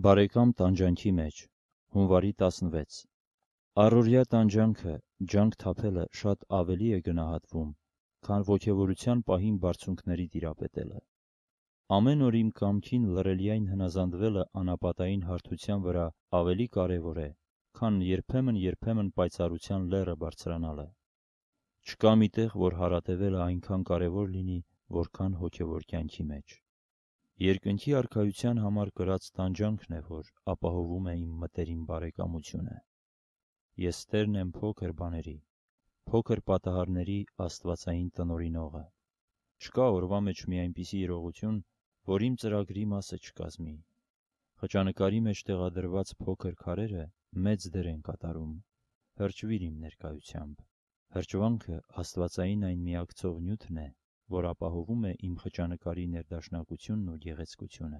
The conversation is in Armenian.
Բարեկամ տանջանքի մեջ, հունվարի 16 Առօրյա տանջանքը, ջանք թափելը շատ ավելի է գնահատվում, քան ոգևորության պահին բարձունքների տիրապետելը։ Ամեն օր իմ կամքին լռելիայն հնազանդվելը անապատային հարթության վրա ավելի կարևոր է, քան երբեմն պայծառության լեռը բարձրանալը։ Չկա մի տեղ, որ հարատևելը այնքան կարևոր լինի, որքան հոգևոր կյանքի մեջ։ Երկնքի արքայության համար կրած տանջանքն է, որ ապահովում է իմ մտերիմ բարեկամությունը։ Ես տերն եմ փոքր բաների, փոքր պատահարների աստվածային տնօրինողը։ Չկա օրվա մեջ մի այնպիսի իրողություն, որ իմ ծրագրի մասը չկազմի։ Խճանկարի մեջ տեղադրված փոքր քարերը մեծ դեր են կատարում։ Հրճվիր իմ ներկայությամբ։ Հրճվանքը աստվածային այն միակցող նյութն է, որ ապահովում է իմ խճանկարի ներդաշնակությունն ու գեղեցկությունը։